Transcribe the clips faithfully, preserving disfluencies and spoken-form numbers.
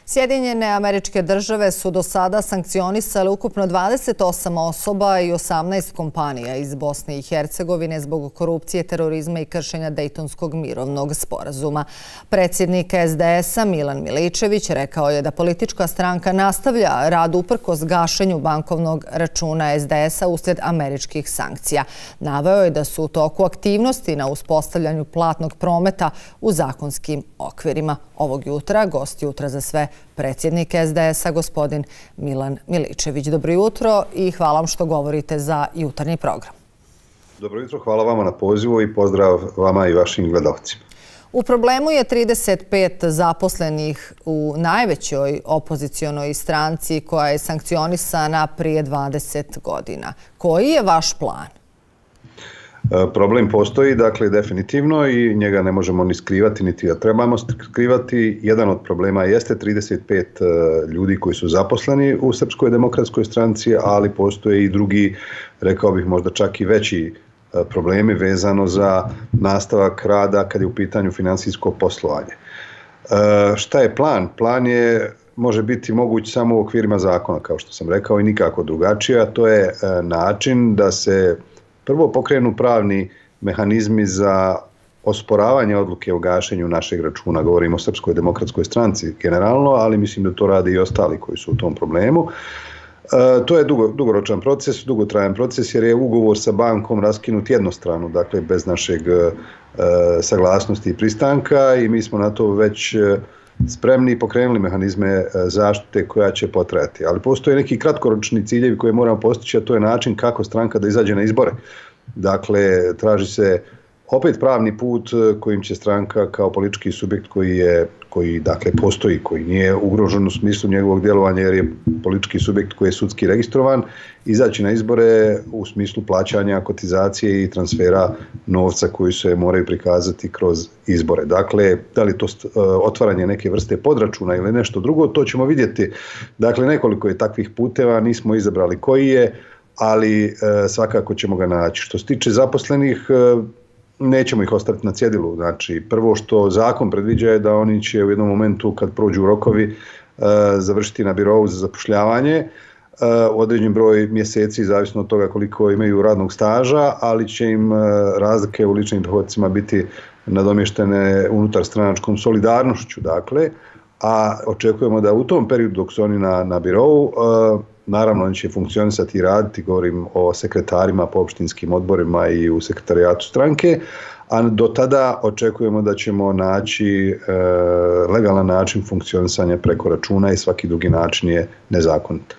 Sjedinjene Američke Države su do sada sankcionisale ukupno dvadeset osam osoba i osamnaest kompanija iz Bosne i Hercegovine zbog korupcije, terorizma i kršenja Dejtonskog mirovnog sporazuma. Predsjednik S D S-a Milan Miličević rekao je da politička stranka nastavlja rad uprkos gašenju bankovnog računa S D S-a uslijed američkih sankcija. Naveo je da su u toku aktivnosti na uspostavljanju platnog prometa u zakonskim okvirima. Ovog jutra gost Jutra za sve predsjednik S D S-a gospodin Milan Miličević. Dobro jutro i hvala vam što govorite za jutarnji program. Dobro jutro, hvala vama na pozivu i pozdrav vama i vašim gledalcima. U problemu je trideset pet zaposlenih u najvećoj opozicionoj stranci koja je sankcionisana prije dvadeset godina. Koji je vaš plan? Problem postoji, dakle, definitivno i njega ne možemo ni skrivati, niti ga trebamo skrivati. Jedan od problema jeste trideset pet ljudi koji su zaposleni u Srpskoj demokratskoj stranci, ali postoje i drugi, rekao bih možda čak i veći problemi vezano za nastavak rada kad je u pitanju finansijsko poslovanje. Šta je plan? Plan je može biti moguć samo u okvirima zakona, kao što sam rekao, i nikako drugačije, a to je način da se prvo pokrenu pravni mehanizmi za osporavanje odluke o gašenju našeg računa. Govorimo o Srpskoj demokratskoj stranci generalno, ali mislim da to rade i ostali koji su u tom problemu. E, to je dugo, dugoročan proces, dugotrajan proces jer je ugovor sa bankom raskinut jednostrano, dakle bez našeg e, saglasnosti i pristanka i mi smo na to već e, spremni i pokrenuli mehanizme zaštite koja će potrajati. Ali postoje neki kratkoročni ciljevi koje moramo postići, a to je način kako stranka da izađe na izbore. Dakle, traži se opet pravni put kojim će stranka kao politički subjekt koji je, koji dakle postoji, koji nije ugrožen u smislu njegovog djelovanja jer je politički subjekt koji je sudski registrovan, izaći na izbore u smislu plaćanja kotizacije i transfera novca koji se moraju prikazati kroz izbore. Dakle, da li to otvaranje neke vrste podračuna ili nešto drugo, to ćemo vidjeti. Dakle, nekoliko je takvih puteva, nismo izabrali koji je, ali e, svakako ćemo ga naći. Što se tiče zaposlenih, e, nećemo ih ostaviti na cjedilu. Znači, prvo što zakon predviđa je da oni će u jednom momentu kad prođu rokovi e, završiti na birovu za zapošljavanje e, određen broj mjeseci, zavisno od toga koliko imaju radnog staža, ali će im e, razlike u ličnim dohodcima biti nadomještene unutar stranačkom solidarnošću. Dakle, a očekujemo da u tom periodu dok su oni na, na birovu, e, naravno, oni će funkcionisati i raditi, govorim o sekretarima po opštinskim odborima i u sekretarijatu stranke, a do tada očekujemo da ćemo naći e, legalan način funkcionisanja preko računa i svaki drugi način je nezakonit.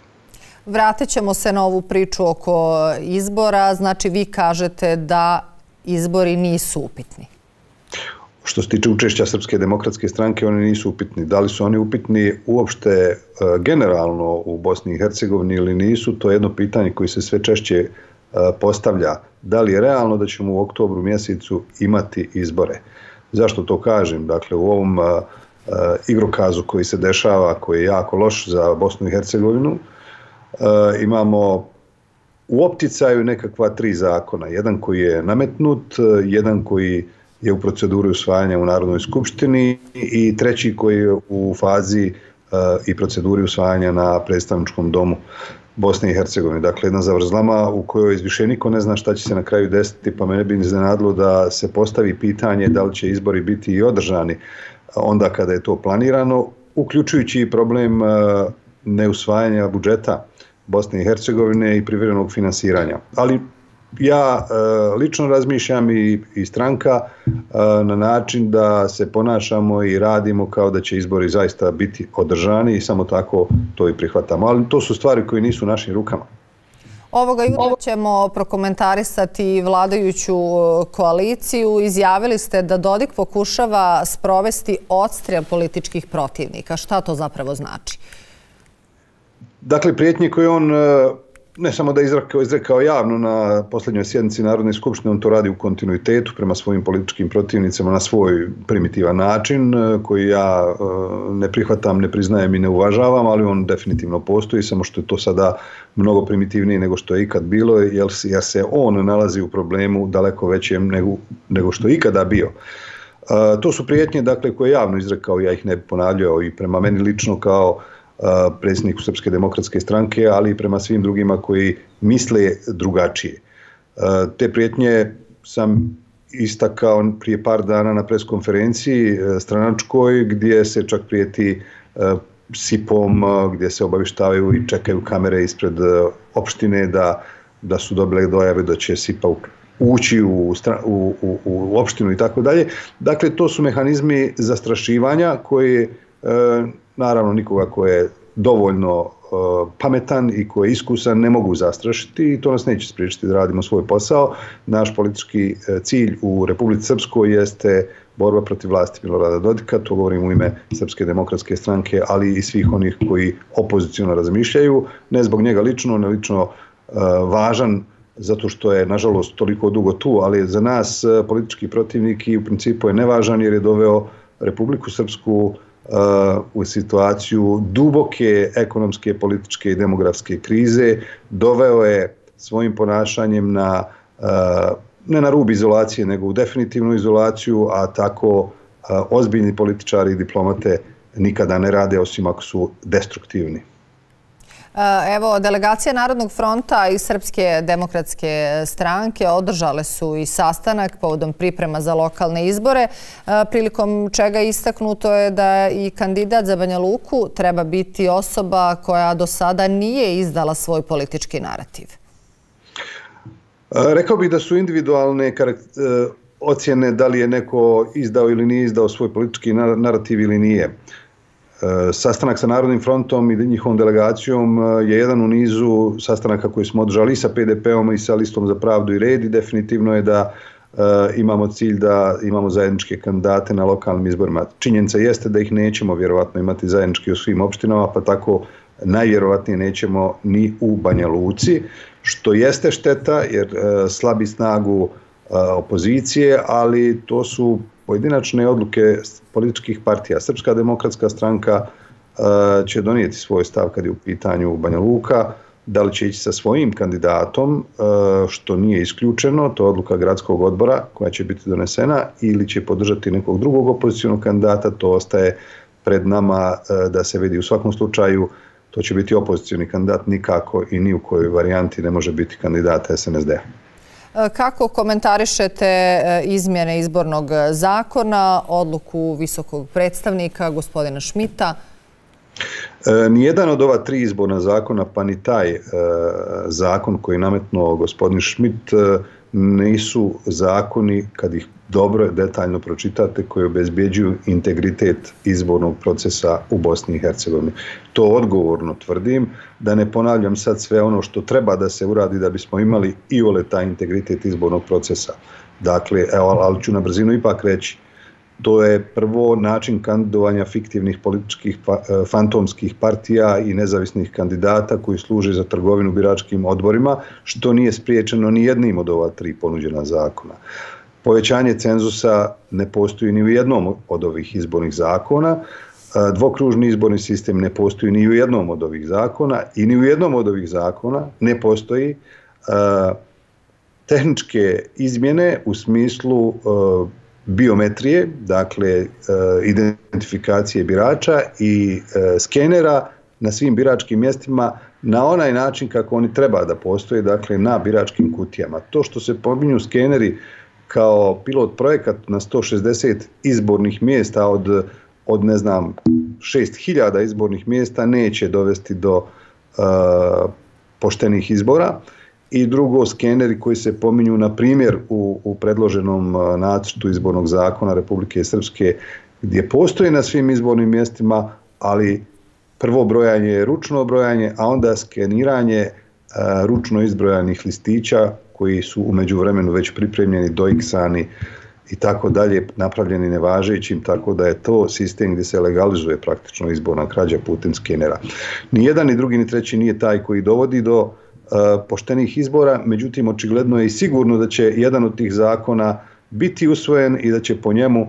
Vratit ćemo se na ovu priču oko izbora. Znači, vi kažete da izbori nisu upitni. Što se tiče učešća Srpske demokratske stranke, oni nisu upitni. Da li su oni upitni uopšte e, generalno u Bosni i Hercegovini ili nisu, to je jedno pitanje koje se sve češće e, postavlja. Da li je realno da ćemo u oktobru mjesecu imati izbore? Zašto to kažem? Dakle, u ovom e, e, igrokazu koji se dešava, koji je jako loš za Bosnu i Hercegovinu, e, imamo u opticaju nekakva tri zakona. Jedan koji je nametnut, jedan koji je u proceduri usvajanja u Narodnoj skupštini i treći koji je u fazi uh, i proceduri usvajanja na predstavničkom domu Bosne i Hercegovine. Dakle, jedna zavrzlama u kojoj više niko ne zna šta će se na kraju desiti, pa mene bi iznenadilo da se postavi pitanje da li će izbori biti i održani onda kada je to planirano, uključujući i problem uh, neusvajanja budžeta Bosne i Hercegovine i privremenog finansiranja. Ali ja e, lično razmišljam i, i stranka e, na način da se ponašamo i radimo kao da će izbori zaista biti održani i samo tako to i prihvatamo. Ali to su stvari koje nisu u našim rukama. Ovoga jutra ćemo prokomentarisati vladajuću koaliciju. Izjavili ste da Dodik pokušava sprovesti odstrel političkih protivnika. Šta to zapravo znači? Dakle, prijetnje koje on ne samo da je izrekao, izrekao javno na posljednjoj sjednici Narodne skupštine, on to radi u kontinuitetu prema svojim političkim protivnicama na svoj primitivan način koji ja ne prihvatam, ne priznajem i ne uvažavam, ali on definitivno postoji, samo što je to sada mnogo primitivnije nego što je ikad bilo, jer se on nalazi u problemu daleko većem nego, nego što je ikada bio. To su prijetnje, dakle, koje je javno izrekao, ja ih ne bi ponavljao, i prema meni lično kao predsjedniku Srpske demokratske stranke, ali i prema svim drugima koji misle drugačije. Te prijetnje sam istakao prije par dana na preskonferenciji stranačkoj, gdje se čak prijeti sipom, gdje se obavištavaju i čekaju kamere ispred opštine da, da su dobile dojave da će sipa ući u, u, u, u opštinu i tako dalje. Dakle, to su mehanizmi zastrašivanja koji, e, naravno, nikoga ko je dovoljno e, pametan i ko je iskusan ne mogu zastrašiti, i to nas neće spriječiti da radimo svoj posao. Naš politički cilj u Republici Srpskoj jeste borba protiv vlasti Milorada Dodika, to govorim u ime Srpske demokratske stranke, ali i svih onih koji opoziciono razmišljaju, ne zbog njega lično, ne lično e, važan, zato što je, nažalost, toliko dugo tu, ali za nas politički protivnik i u principu je nevažan jer je doveo Republiku Srpsku uh, u situaciju duboke ekonomske, političke i demografske krize. Doveo je svojim ponašanjem na, uh, ne na rub izolacije, nego u definitivnu izolaciju, a tako uh, ozbiljni političari i diplomate nikada ne rade, osim ako su destruktivni. Evo, delegacija Narodnog fronta i Srpske demokratske stranke održale su i sastanak povodom priprema za lokalne izbore, prilikom čega istaknuto je da i kandidat za Banja Luku treba biti osoba koja do sada nije izdala svoj politički narativ. Rekao bih da su individualne ocjene da li je neko izdao ili nije izdao svoj politički narativ ili nije. Sastanak sa Narodnim frontom i njihovom delegacijom je jedan u nizu sastanaka koji smo održali i sa P D P-om i sa Listom za pravdu i red, i definitivno je da e, imamo cilj da imamo zajedničke kandidate na lokalnim izborima. Činjenica jeste da ih nećemo vjerovatno imati zajednički u svim opštinama, pa tako najvjerovatnije nećemo ni u Banja Luci, što jeste šteta jer e, slabi snagu e, opozicije, ali to su pojedinačne odluke političkih partija. Srpska demokratska stranka uh, će donijeti svoj stav kad je u pitanju Banja Luka, da li će ići sa svojim kandidatom, uh, što nije isključeno, to je odluka gradskog odbora koja će biti donesena, ili će podržati nekog drugog opozicionog kandidata, to ostaje pred nama uh, da se vidi. U svakom slučaju, to će biti opozicioni kandidat, nikako i ni u kojoj varijanti ne može biti kandidat S N S D-a. Kako komentarišete izmjene izbornog zakona, odluku visokog predstavnika, gospodina Šmita? Nijedan od ova tri izborna zakona, pa ni taj e, zakon koji je nametnuo gospodin Šmit, nisu zakoni, kad ih dobro detaljno pročitate, koji obezbjeđuju integritet izbornog procesa u Bosni i Hercegovini. To odgovorno tvrdim, da ne ponavljam sad sve ono što treba da se uradi da bismo imali i ole taj integritet izbornog procesa. Dakle, evo, ali ću na brzinu ipak reći, to je prvo način kandidovanja fiktivnih političkih fantomskih partija i nezavisnih kandidata koji služe za trgovinu biračkim odborima, što nije spriječeno ni jednim od ova tri ponuđena zakona. Povećanje cenzusa ne postoji ni u jednom od ovih izbornih zakona, dvokružni izborni sistem ne postoji ni u jednom od ovih zakona i ni u jednom od ovih zakona ne postoji tehničke izmjene u smislu biometrije, dakle identifikacije birača i skenera na svim biračkim mjestima na onaj način kako oni treba da postoje, dakle na biračkim kutijama. To što se pominju skeneri kao pilot projekat na sto šezdeset izbornih mjesta od, od ne znam, šest hiljada izbornih mjesta neće dovesti do uh, poštenih izbora. I drugo, skeneri koji se pominju, na primjer, u, u predloženom nacrtu izbornog zakona Republike Srpske, gdje postoji na svim izbornim mjestima, ali prvo brojanje je ručno brojanje, a onda skeniranje a, ručno izbrojanih listića koji su u međuvremenu već pripremljeni, doiksani i tako dalje, napravljeni nevažećim, tako da je to sistem gdje se legalizuje praktično izborna krađa putem skenera. Ni jedan, ni drugi, ni treći nije taj koji dovodi do poštenih izbora, međutim očigledno je i sigurno da će jedan od tih zakona biti usvojen i da će po njemu uh,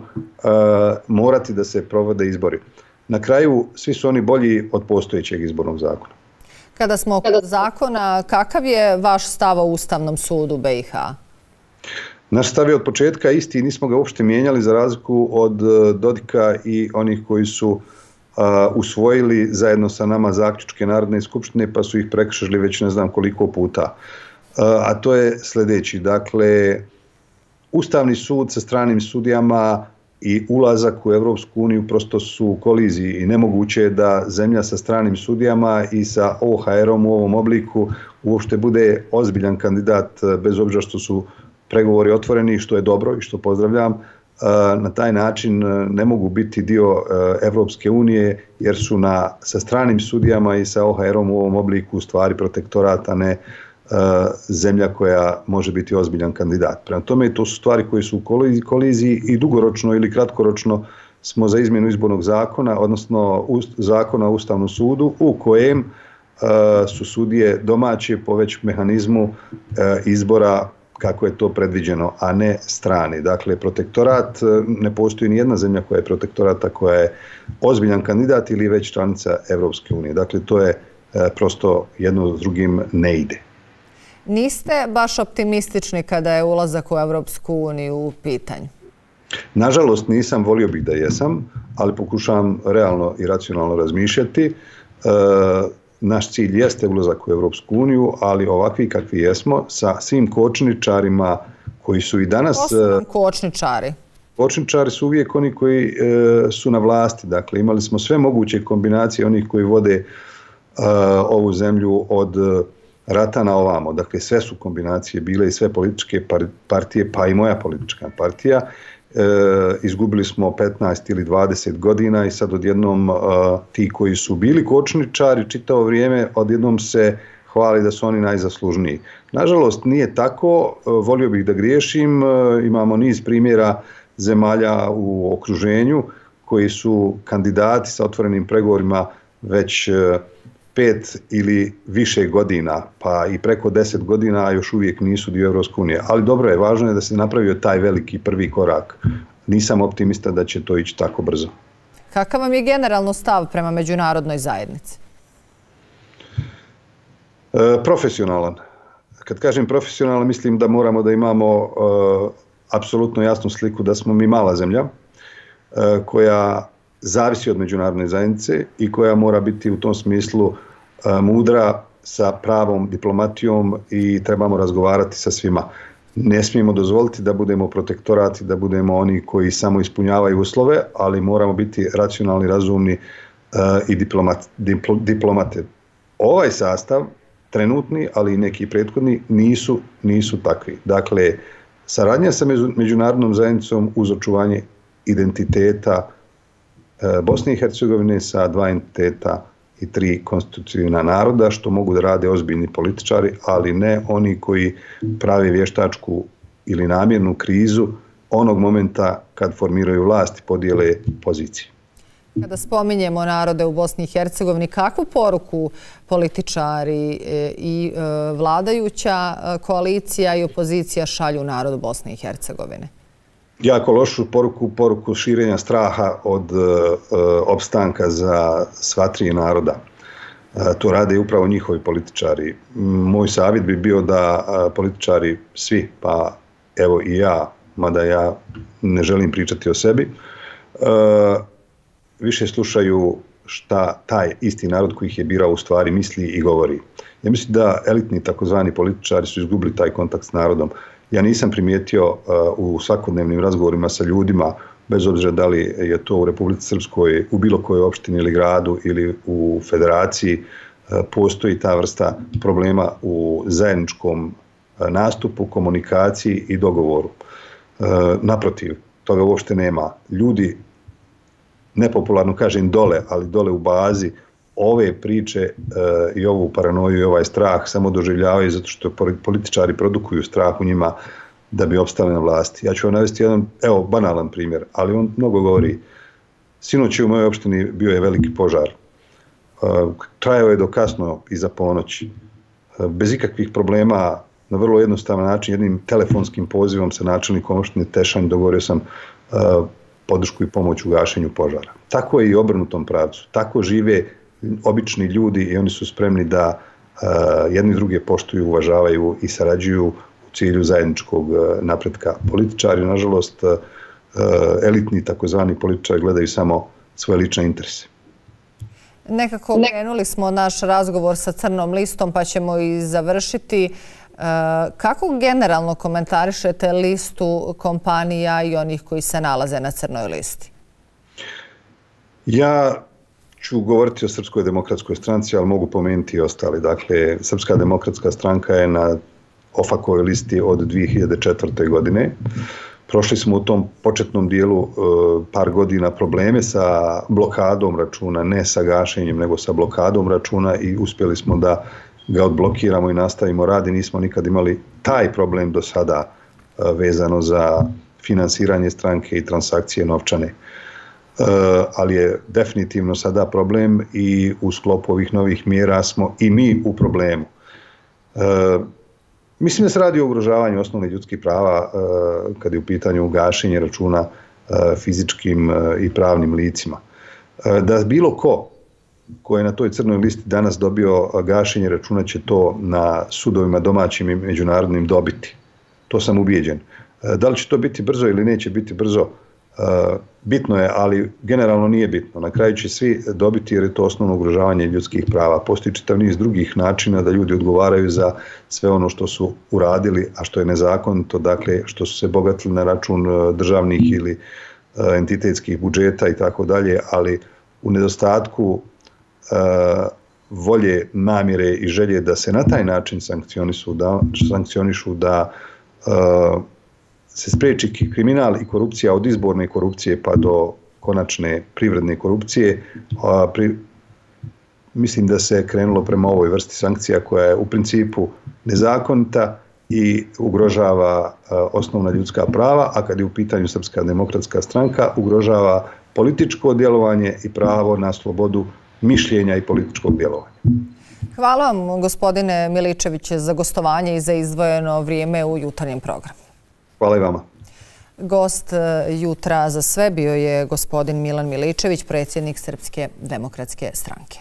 morati da se provode izbori. Na kraju, svi su oni bolji od postojećeg izbornog zakona. Kada smo kod zakona, kakav je vaš stav o Ustavnom sudu B i H? Naš stav je od početka isti i nismo ga uopšte mijenjali za razliku od Dodika i onih koji su uh, usvojili zajedno sa nama zaključke Narodne skupštine pa su ih prekršili već ne znam koliko puta. Uh, a to je sljedeći. Dakle, Ustavni sud sa stranim sudijama i ulazak u Evropsku uniju prosto su u koliziji i nemoguće je da zemlja sa stranim sudijama i sa O H R-om u ovom obliku uopšte bude ozbiljan kandidat, bez obzira što su pregovori otvoreni, što je dobro i što pozdravljam. Na taj način ne mogu biti dio Evropske unije jer su na, sa stranim sudijama i sa O H R-om u ovom obliku u stvari protektorat, a ne zemlja koja može biti ozbiljan kandidat. Prema tome, to su stvari koje su u koliziji i dugoročno ili kratkoročno smo za izmjenu izbornog zakona, odnosno zakona o Ustavnom sudu, u kojem su sudije domaće po već mehanizmu izbora kako je to predviđeno, a ne strani. Dakle, protektorat, ne postoji ni jedna zemlja koja je protektorata, koja je ozbiljan kandidat ili već članica Evropske unije. Dakle, to je prosto jedno s drugim ne ide. Niste baš optimistični kada je ulazak u Evropsku uniju u pitanju? Nažalost, nisam, volio bih da jesam, ali pokušavam realno i racionalno razmišljati. E, naš cilj jeste ulazak u Evropsku uniju, ali ovakvi kakvi jesmo, sa svim kočničarima koji su i danas... Ko su nam kočničari? Kočničari su uvijek oni koji e, su na vlasti. Dakle, imali smo sve moguće kombinacije onih koji vode e, ovu zemlju od rata na ovamo. Dakle, sve su kombinacije bile i sve političke partije, pa i moja politička partija. E, izgubili smo petnaest ili dvadeset godina i sad odjednom e, ti koji su bili kočničari čitavo vrijeme odjednom se hvali da su oni najzaslužniji. Nažalost, nije tako. E, volio bih da griješim. E, imamo niz primjera zemalja u okruženju koji su kandidati sa otvorenim pregovorima već e, pet ili više godina, pa i preko deset godina, a još uvijek nisu dio Evropske unije. Ali dobro je, važno je da se napravio taj veliki prvi korak. Nisam optimista da će to ići tako brzo. Kakav vam je generalno stav prema međunarodnoj zajednici? E, profesionalan. Kad kažem profesionalan, mislim da moramo da imamo e, apsolutno jasnu sliku da smo mi mala zemlja e, koja zavisi od međunarodne zajednice i koja mora biti u tom smislu a, mudra sa pravom diplomatijom i trebamo razgovarati sa svima. Ne smijemo dozvoliti da budemo protektorati, da budemo oni koji samo ispunjavaju uslove, ali moramo biti racionalni, razumni a, i diplomat, diplo, diplomate. Ovaj sastav, trenutni, ali i neki prethodni, nisu, nisu takvi. Dakle, saradnja sa međunarodnom zajednicom uz očuvanje identiteta Bosne i Hercegovine sa dva entiteta i tri konstitutivna naroda, što mogu da rade ozbiljni političari, ali ne oni koji prave vještačku ili namjernu krizu onog momenta kad formiraju vlast i podijele pozicije. Kada spominjemo narode u Bosni i Hercegovini, kakvu poruku političari i vladajuća koalicija i opozicija šalju narodu Bosne i Hercegovine? Jako lošu poruku, poruku širenja straha od uh, opstanka za sva tri naroda. Uh, to rade upravo njihovi političari. Moj savjet bi bio da uh, političari svi, pa evo i ja, mada ja ne želim pričati o sebi, uh, više slušaju šta taj isti narod koji ih je birao u stvari misli i govori. Ja mislim da elitni takozvani političari su izgubili taj kontakt s narodom. Ja nisam primijetio uh, u svakodnevnim razgovorima sa ljudima, bez obzira da li je to u Republici Srpskoj, u bilo kojoj opštini ili gradu ili u federaciji, uh, postoji ta vrsta problema u zajedničkom uh, nastupu, komunikaciji i dogovoru. Uh, naprotiv, toga uopšte nema. Ljudi, nepopularno kažem dole, ali dole u bazi, ove priče e, i ovu paranoju i ovaj strah samo doživljavaju zato što političari produkuju strah u njima da bi opstali na vlasti. Ja ću vam navesti jedan, evo, banalan primjer, ali on mnogo govori. Sinoć u mojoj opštini bio je veliki požar. E, trajao je do kasno iza ponoći. E, bez ikakvih problema, na vrlo jednostavan način, jednim telefonskim pozivom sa načelnikom opštine Tešanj dogovorio sam e, podršku i pomoć u gašenju požara. Tako je i obrnutom pravcu. Tako žive obični ljudi i oni su spremni da uh, jedni druge poštuju, uvažavaju i sarađuju u cilju zajedničkog napretka. Političari, nažalost, elitni takozvani političari gledaju samo svoje lične interese. Nekako krenuli smo naš razgovor sa crnom listom pa ćemo i završiti. Kako generalno komentarišete listu kompanija i onih koji se nalaze na crnoj listi? Ja ću govoriti o Srpskoj demokratskoj stranci, ali mogu pomenuti i ostali. Dakle, Srpska demokratska stranka je na OFAK-ovoj listi od dvije hiljade četvrte. godine. Prošli smo u tom početnom dijelu par godina probleme sa blokadom računa, ne sa gašenjem, nego sa blokadom računa i uspjeli smo da ga odblokiramo i nastavimo rad i nismo nikad imali taj problem do sada vezano za finansiranje stranke i transakcije novčane. Ali je definitivno sada problem i u sklopu ovih novih mjera smo i mi u problemu. Mislim da se radi o ugrožavanju osnovnih ljudskih prava kad je u pitanju gašenje računa fizičkim i pravnim licima. Da bilo ko ko je na toj crnoj listi danas dobio gašenje računa će to na sudovima domaćim i međunarodnim dobiti. To sam ubijeđen. Da li će to biti brzo ili neće biti brzo, bitno je, ali generalno nije bitno. Na kraju će svi dobiti jer je to osnovno ugrožavanje ljudskih prava. Postoji čitav niz drugih načina da ljudi odgovaraju za sve ono što su uradili, a što je nezakonito, dakle što su se bogatili na račun državnih ili entitetskih budžeta i tako dalje, ali u nedostatku volje, namjere i želje da se na taj način sankcionišu, da, sankcionišu da se spreči kriminal i korupcija od izborne korupcije pa do konačne privredne korupcije. Pri, mislim da se krenulo prema ovoj vrsti sankcija koja je u principu nezakonita i ugrožava osnovna ljudska prava, a kad je u pitanju Srpska demokratska stranka ugrožava političko djelovanje i pravo na slobodu mišljenja i političkog djelovanja. Hvala vam, gospodine Miličević, za gostovanje i za izdvojeno vrijeme u jutarnjem programu. Hvala i vama. Gost Jutra za sve bio je gospodin Milan Miličević, predsjednik Srpske demokratske stranke.